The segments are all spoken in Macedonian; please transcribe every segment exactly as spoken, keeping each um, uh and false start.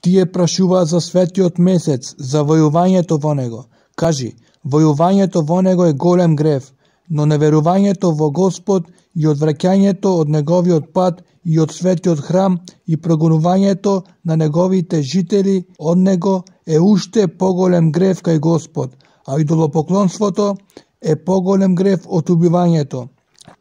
Тие прашуваат за светиот месец, за војувањето во него. Кажи, војувањето во него е голем грев, но неверувањето во Господ и одвраќањето од неговиот пат и од светиот храм и прогонувањето на неговите жители од него е уште поголем грев кај Господ, а идолопоклонството е поголем грев од убивањето.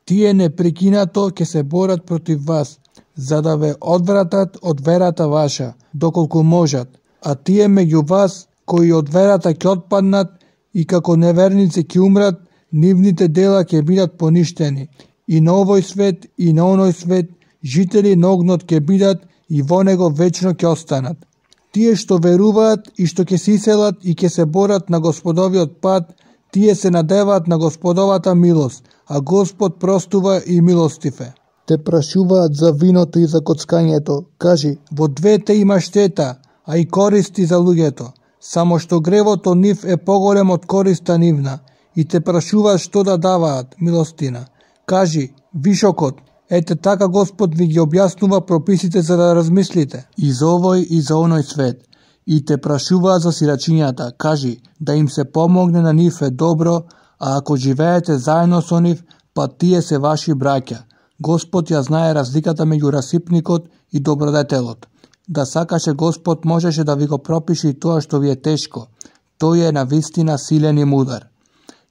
Тие непрекинато ќе се борат против вас, за да ве одвратат од верата ваша, доколку можат, а тие меѓу вас кои од верата ќе отпаднат и како неверници ќе умрат, нивните дела ќе бидат поништени. И на овој свет и на оној свет жители на огнот ќе бидат и во него вечно ќе останат. Тие што веруваат и што ќе се иселат и ќе се борат на Господовиот пат, тие се надеваат на Господовата милост, а Господ простува и милостив е. Те прашуваат за виното и за коцкањето. Кажи, во двете има штета, а и користи за луѓето, само што гревот од нив е поголем од користа нивна, и те прашуваат што да даваат милостина. Кажи, вишокот, ете така Господ ви ги објаснува прописите за да размислите и за овој и за оној свет. И те прашуваат за сирачињата. Кажи, да им се помогне на нив е добро, а ако живеете заедно со нив, па тие се ваши браќа. Господ ја знае разликата меѓу расипникот и добродетелот. Да сакаше Господ можеше да ви го пропише и тоа што ви е тешко. Тој е навистина силен и мудар.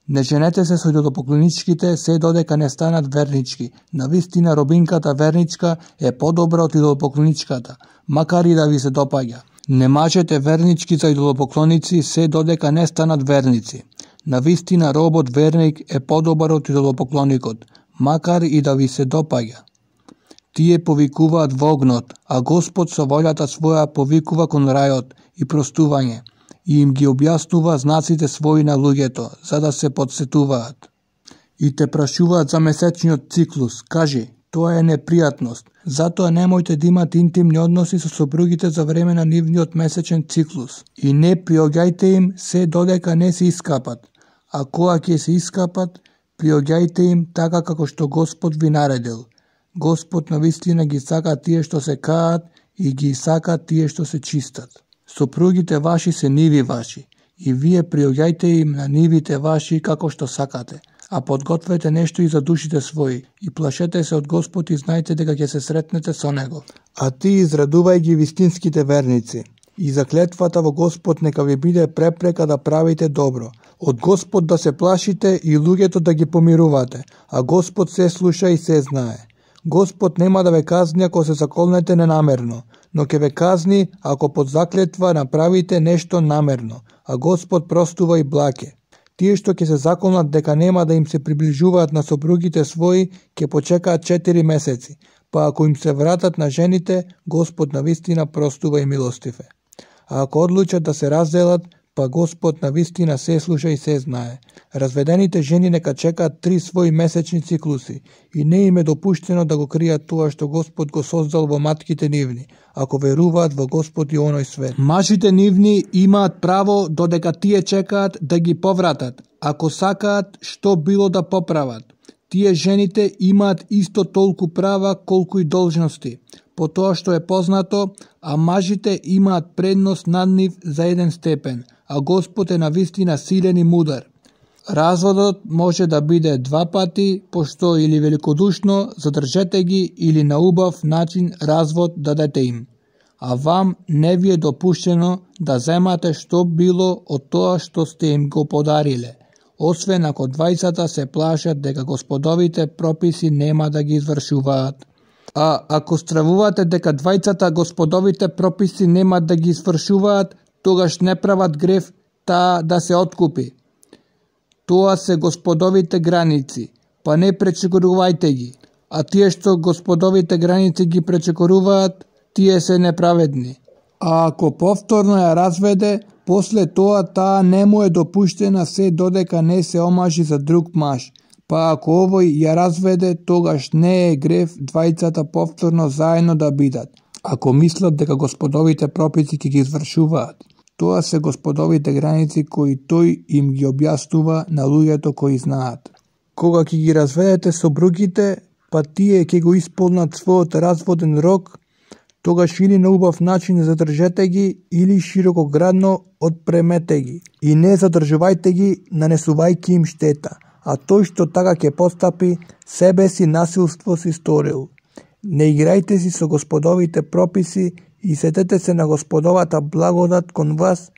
Не женете се со идолопоклоничките се додека не станат вернички. Навистина робинката верничка е подобра од идолопоклоничката, макар и да ви се допаѓа. Не мажете вернички за идолопоклоници се додека не станат верници. Навистина робот верник е подобар од идолопоклоникот, макар и да ви се допаѓа. Тие повикуваат во огнот, а Господ со волјата своја повикува кон рајот и простување, и им ги објаснува знаците своји на луѓето, за да се подсетуваат. И те прашуваат за месечниот циклус. Кажи, тоа е непријатност. Затоа немојте да имате интимни односи со сопругите за време на нивниот месечен циклус. И не приоѓајте им се додека не се искапат. А кога ќе се искапат, приоѓајте им така како што Господ ви наредил. Господ навистина ги сака тие што се каат и ги сака тие што се чистат. Сопругите ваши се ниви ваши, и вие приоѓајте им на нивите ваши како што сакате, а подгответе нешто и за душите своји, и плашете се од Господ и знајте дека ќе се сретнете со Него. А ти израдувај ги вистинските верници, и заклетвата во Господ нека ви биде препрека да правите добро, од Господ да се плашите и луѓето да ги помирувате, а Господ се слуша и се знае. Господ нема да ве казни ако се заколнете ненамерно, но ќе ве казни ако под заклетва направите нешто намерно, а Господ простува и блаке. Тие што ќе се заколнат дека нема да им се приближуваат на сопругите своји, ќе почекаат четири месеци, па ако им се вратат на жените, Господ навистина простува и милостив е. А ако одлучат да се разделат, па Господ навистина се слуша и се знае. Разведените жени нека чекаат три своји месечни циклуси и не им е допуштено да го кријат тоа што Господ го создал во матките нивни, ако веруваат во Господ и оној свет. Мажите нивни имаат право додека тие чекаат да ги повратат, ако сакаат што било да поправат. Тие жените имаат исто толку права колку и должности, по тоа што е познато, а мажите имаат предност над нив за еден степен, а Господ е навистина силен и мудар. Разводот може да биде два пати, пошто или великодушно задржете ги или на убав начин развод дадете им. А вам не ви е допуштено да земате што било од тоа што сте им го подариле, освен ако двајцата се плашат дека Господовите прописи нема да ги извршуваат. А ако стравувате дека двајцата Господовите прописи нема да ги извршуваат, тогаш не прават грев таа да се откупи. Тоа се Господовите граници, па не пречекорувајте ги, а тие што Господовите граници ги пречекоруваат, тие се неправедни. А ако повторно ја разведе, после тоа таа не му е допуштена се додека не се омажи за друг маж, па ако овој ја разведе, тогаш не е грев двајцата повторно заедно да бидат, ако мислат дека Господовите прописи ќе ги извршуваат. Тоа се Господовите граници кои тој им ги објаснува на луѓето кои знаат. Кога ќе ги разведете сопругите, па тие ќе го исполнат својот разводен рок, тогаш или на убав начин задржете ги, или широкоградно отпремете ги. И не задржувајте ги, нанесувајќи им штета. А тој што така ќе постапи, себе си насилство си сторил. Не играјте си со Господовите прописи и сетете се на Господовата благодат кон вас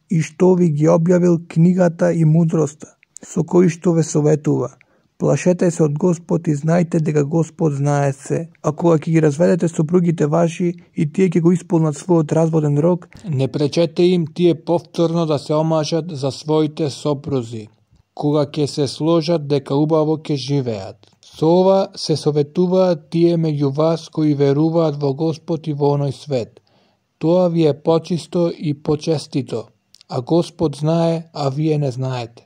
и што ви ги објавил книгата и мудроста, со кои што ве советува. Плашете се од Господ и знајте дека Господ знае се. А кога ќе ги разведете сопругите ваши и тие ќе го исполнат својот разводен рок, не пречете им тие повторно да се омажат за своите сопрузи, кога ќе се сложат дека убаво ќе живеат. Со ова се советуваат тие меѓу вас кои веруваат во Господ и во оној свет. Тоа ви е почисто и почестито, а Господ знае, а вие не знаете.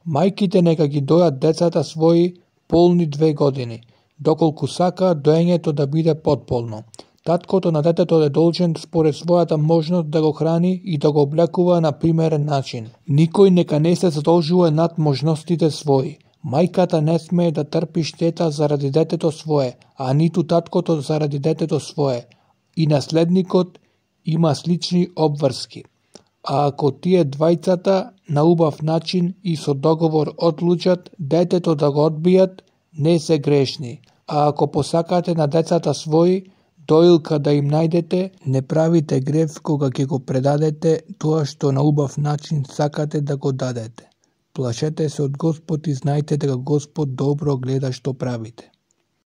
Мајките нека ги дојат децата своји полни две години, доколку сака доењето да биде потполно. Таткото на детето е должен според својата можност да го храни и да го облекува на примерен начин. Никој нека не се задолжува над можностите своји. Мајката не смее да трпи штета заради детето свое, а ниту таткото заради детето свое. И наследникот има слични обврски. А ако тие двајцата на убав начин и со договор одлучат детето да го одбијат, не се грешни. А ако посакате на децата своји, доилка да им најдете, не правите грев кога ќе го предадете тоа што на убав начин сакате да го дадете. Плашете се од Господ и знајте дека Господ добро гледа што правите.